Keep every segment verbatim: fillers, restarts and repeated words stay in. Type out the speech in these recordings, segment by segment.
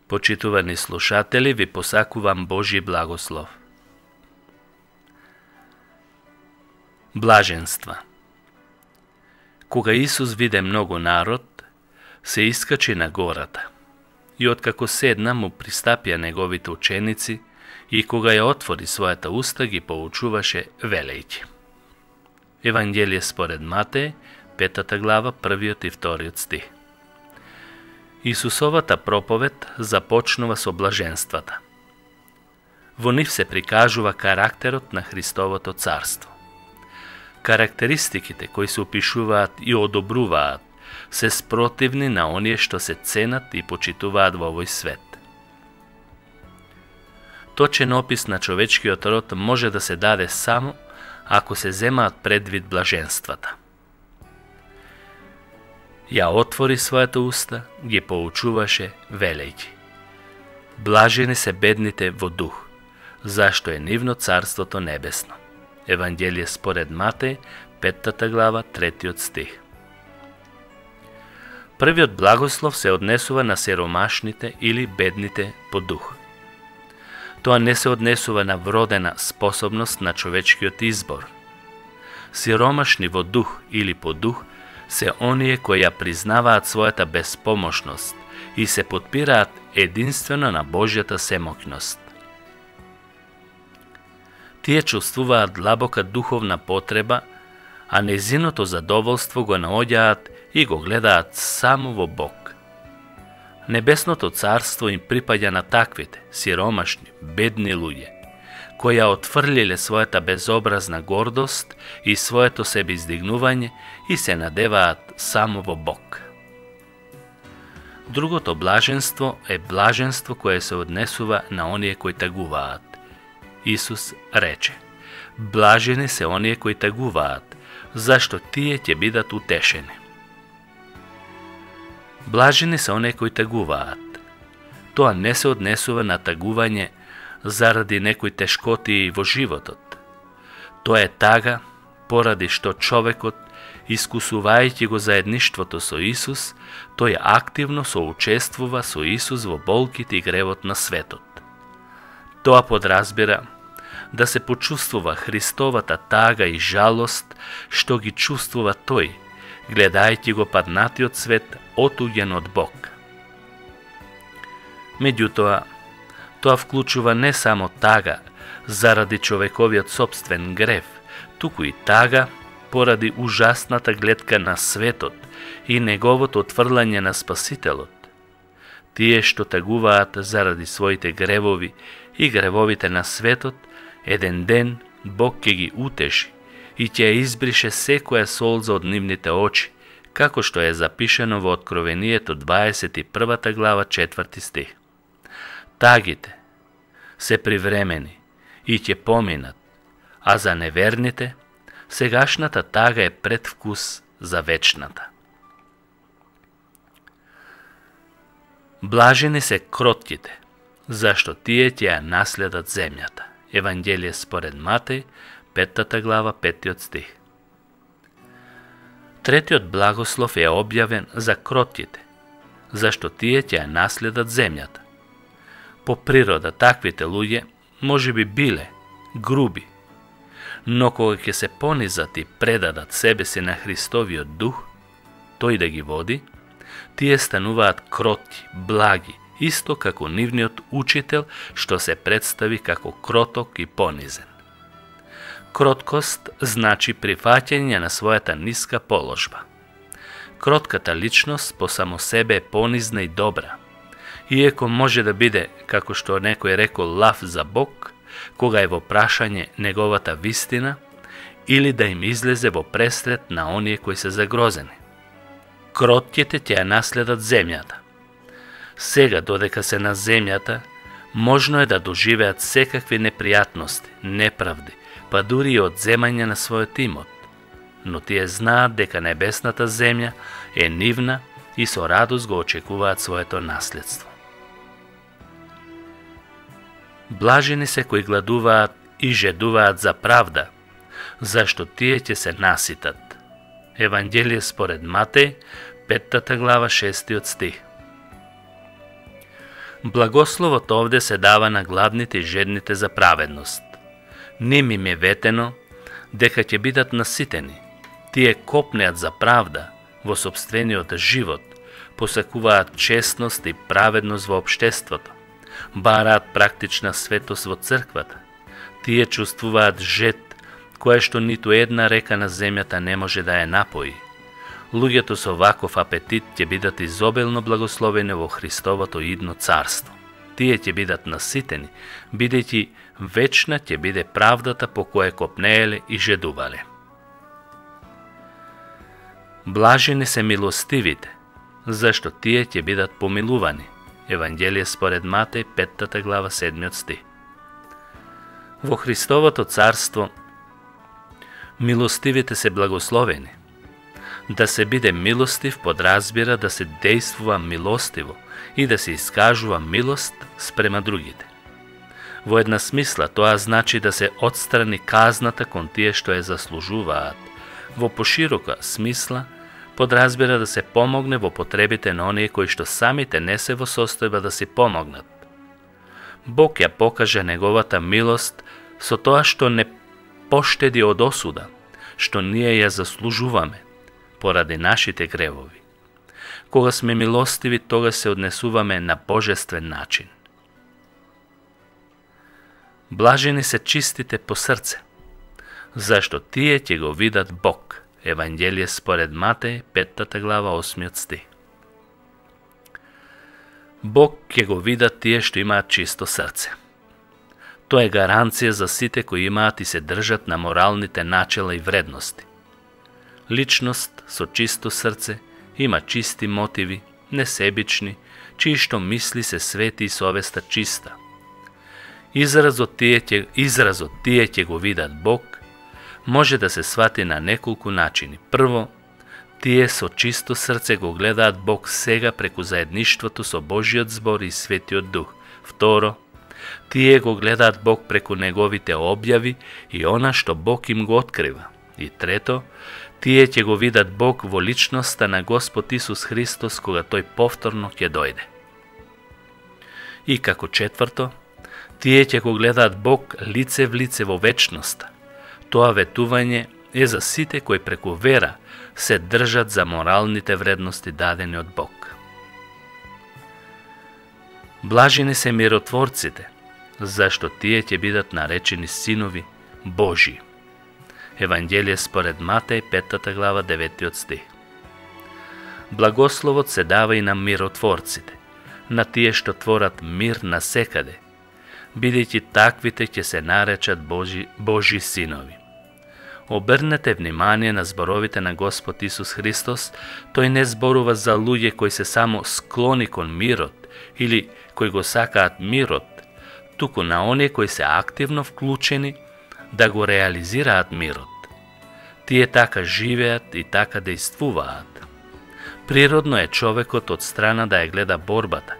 Почитувани слушатели, ви посакувам Божји благослов. Блаженства. Кога Исус виде многу народ, се искачи на гората. И откако седна, му пристапија неговите ученици, и кога ја отвори својата уста, ги поучуваше велејќи. Евангелие според Матеј, петата глава, првиот и вториот стих. Исусовата проповед започнува со блаженствата. Во нив се прикажува карактерот на Христовото царство. Карактеристиките кои се опишуваат и одобруваат се спротивни на оние што се ценат и почитуваат во овој свет. Точен опис на човечкиот род може да се даде само ако се земаат предвид блаженствата. Ја отвори својата уста, ги поучуваше велејќи: Блажени се бедните во дух, зашто е нивно царството небесно. Евангелие според Матеј, петата глава, третиот стих. Првиот благослов се однесува на сиромашните или бедните по дух. Тоа не се однесува на вродена способност на човечкиот избор. Сиромашни во дух или по дух се оние кои ја признаваат својата безпомошност и се потпираат единствено на Божјата семоќност. Тие чувствуваат длабока духовна потреба, а незиното задоволство го наоѓаат и го гледаат само во Бог. Небесното царство им припаѓа на таквите, сиромашни, бедни луѓе, кои ја отфрлиле својата безобразна гордост и своето себеиздигнување и се надеваат само во Бог. Другото блаженство е блаженство кое се однесува на оние кои тагуваат. Исус рече: Блажени се оние кои тагуваат, зашто тие ќе бидат утешени. Блажени се оние кои тагуваат. Тоа не се однесува на тагување заради некои тешкоти во животот. Тоа е тага поради што човекот, искусувајќи го заедништвото со Исус, тој активно соучествува со Исус во болките и гревот на светот. Тоа подразбира да се почувствува Христовата тага и жалост што ги чувствува тој, гледајќи го паднатиот свет отуѓен од Бог. Меѓутоа, тоа вклучува не само тага заради човековиот собствен грев, туку и тага поради ужасната гледка на светот и неговото отфрлање на Спасителот. Тие што тагуваат заради своите гревови и гревовите на светот, еден ден Бог ќе ги утеши и ќе ја избрише секоја солза од нивните очи, како што е запишено во Откровението дваесет и првата глава, четврти стих. Тагите се привремени и ќе поминат, а за неверните сегашната тага е предвкус за вечната. Блажени се кротките, зашто тие ќе ја наследат земјата. Евангелие според Матеј, петата глава, петиот стих. Третиот благослов е објавен за кротките, зашто тие ќе ја наследат земјата. По природа таквите луѓе може би биле груби, но кога ќе се понизат и предадат себе си на Христовиот дух, тој да ги води, тие стануваат кротки, благи, исто како нивниот учител што се представи како кроток и понизен. Кроткост значи прифаќање на својата ниска положба. Кротката личност по само себе е понизна и добра, иеко може да биде, како што некој рекол, лав за Бог, кога е во прашање неговата вистина, или да им излезе во пресред на оние кои се загрозени. Кротките ќе ја наследат земјата. Сега, додека се на земјата, можно е да доживеат секакви непријатности, неправди, па дури и одземање на својот имот, но тие знаат дека небесната земја е нивна и со радост го очекуваат своето наследство. Блажени се кои гладуваат и жедуваат за правда, зашто тие ќе се наситат. Евангелие според Матеј, петата глава, шестиот стих. Благословот овде се дава на гладните и жедните за праведност. Ним им е ветено дека ќе бидат наситени. Тие копнеат за правда во сопствениот живот, посакуваат честност и праведност во општеството, бараат практична светост во црквата. Тие чувствуваат жед, кое што ниту една река на земјата не може да ја напои. Луѓето со ваков апетит ќе бидат изобилно благословени во Христовото идно царство. Тие ќе бидат наситени, бидејќи вечна ќе биде правдата по која копнееле и жедувале. Блажени се милостивите, зашто тие ќе бидат помилувани. Евангелие според Матеј, петтата глава, седмиот стих. Во Христовото царство милостивите се благословени. Да се биде милостив подразбира да се действува милостиво и да се искажува милост спрема другите. Во една смисла тоа значи да се отстрани казната кон тие што ја заслужуваат. Во поширока смисла подразбира да се помогне во потребите на оние кои што самите не се во состојба да си помогнат. Бог ја покаже неговата милост со тоа што не поштеди од осуда, што ние ја заслужуваме поради нашите гревови. Кога сме милостиви, тога се однесуваме на божествен начин. Блажени се чистите по срце, зашто тие ќе го видат Бог. Евангелие според Матеј, петтата глава, осмиот стих. Бог ќе го видат тие што имаат чисто срце. Тоа е гаранција за сите кои имаат и се држат на моралните начела и вредности. Личност со чисто срце има чисти мотиви, несебични, чии што мисли се свети и совеста чиста. Изразот тие ќе, изразот тие ќе го видат Бог може да се свати на неколку начини. Прво, тие со чисто срце го гледаат Бог сега преку заедништвото со Божиот збор и Светиот Дух. Второ, тие го гледаат Бог преку неговите објави и она што Бог им го открива. И трето, тие ќе го видат Бог во личноста на Господ Исус Христос кога тој повторно ќе дојде. И како четврто, тие ќе го гледаат Бог лице в лице во вечноста. Тоа ветување е за сите кои преку вера се држат за моралните вредности дадени од Бог. Блажени се миротворците, зашто тие ќе бидат наречени синови Божии. Евангелие според Матеј, петтата глава, деветиот стих. Благословот се дава и на миротворците, на тие што творат мир насекаде, бидејќи таквите ќе се наречат Божи, Божи синови. Обрнете внимание на зборовите на Господ Исус Христос, тој не зборува за луѓе кои се само склони кон мирот или кои го сакаат мирот, туку на оние кои се активно вклучени да го реализираат мирот. Тие така живеат и така действуваат. Природно е човекот од страна да ја гледа борбата,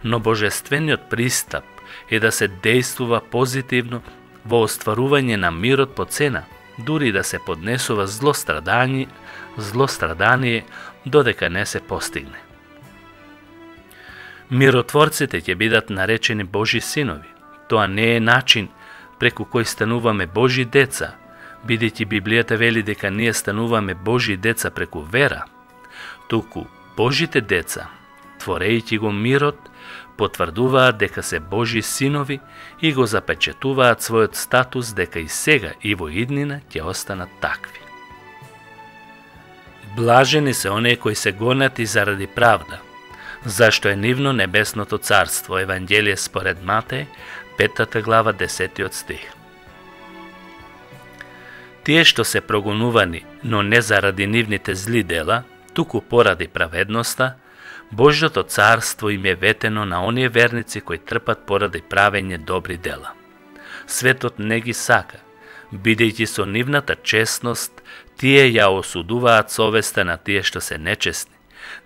но божествениот пристап е да се действува позитивно во остварување на мирот по цена, дури да се поднесува злострадание, злострадание додека не се постигне. Миротворците ќе бидат наречени Божи синови. Тоа не е начин преку кој стануваме Божи деца, бидејќи Библијата вели дека ние стануваме Божи деца преку вера, туку Божите деца, творејќи го мирот, потврдуваат дека се Божи синови и го запечатуваат својот статус дека и сега и во иднина ќе останат такви. Блажени се оние кои се гонати заради правда, зашто е нивно небесното царство. Евангелие според Матеј, петтата глава, десетиот стих. Тие што се прогонувани, но не заради нивните зли дела, туку поради праведноста, Божјото царство им е ветено на оние верници кои трпат поради правење добри дела. Светот не ги сака, бидејќи со нивната честност тие ја осудуваат совеста на тие што се нечестни,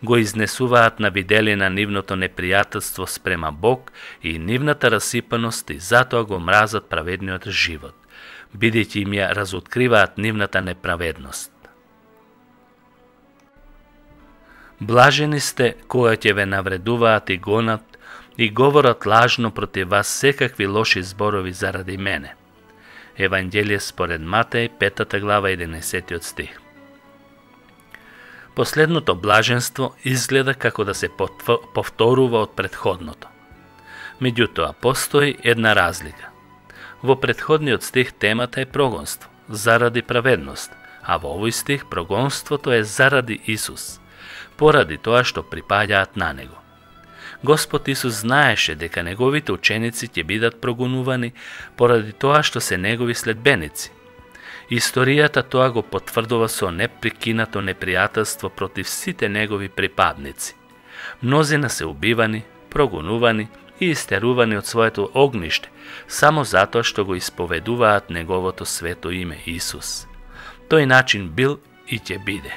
го изнесуваат на виделина нивното непријателство спрема Бог и нивната расипаност и затоа го мразат праведниот живот, бидејќи им ја разоткриваат нивната неправедност. Блажени сте кога ќе ве навредуваат и гонат и говорат лажно против вас секакви лоши зборови заради мене. Евангелие според Матеј, петата глава, единаесеттиот стих. Последното блаженство изгледа како да се повторува од претходното. Меѓутоа, постои една разлика. Во претходниот стих темата е прогонство, заради праведност, а во овој стих прогонството е заради Исус, поради тоа што припаѓаат на Него. Господ Исус знаеше дека Неговите ученици ќе бидат прогонувани поради тоа што се Негови следбеници. Историјата тоа го потврдува со непрекинато непријателство против сите Негови припадници. Мнозина се убивани, прогонувани и истерувани од своето огниште, само затоа што го исповедуваат Неговото свето име Исус. Тој начин бил и ќе биде.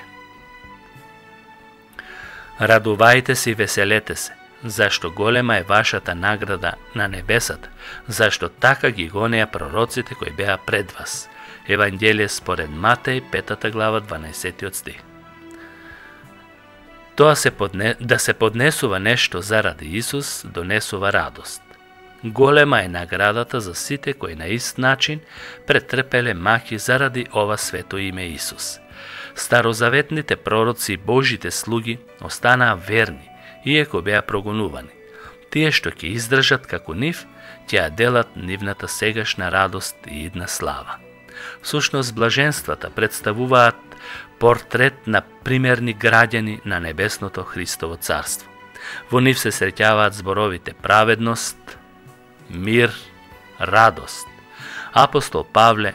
Радувајте се и веселете се, зашто голема е вашата награда на небесата, зашто така ги гонеа пророците кои беа пред вас. Евангелие според Матеј, петата глава, дванаесеттиот стих. Тоа се подне... да се поднесува нешто заради Исус донесува радост. Голема е наградата за сите кои на ист начин претрпеле маки заради ова свето име Исус. Старозаветните пророци и Божите слуги останаа верни, иеко беа прогонувани. Тие што ќе издржат како нив, ќе ја делат нивната сегашна радост и идна слава. Всушност, блаженствата представуваат портрет на примерни граѓани на небесното Христово царство. Во нив се среќаваат зборовите праведност, мир, радост. Апостол Павле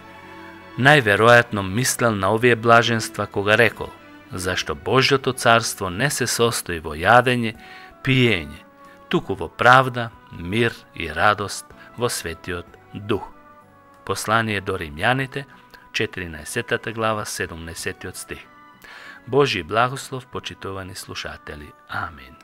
најверојатно мислел на овие блаженства кога рекол: зашто Божјото царство не се состои во јадење, пиење, туку во правда, мир и радост во Светиот Дух. Послание до Римјаните, четиринаесеттата глава, седумнаесеттиот стих. Божји благослов, почитувани слушатели. Амин.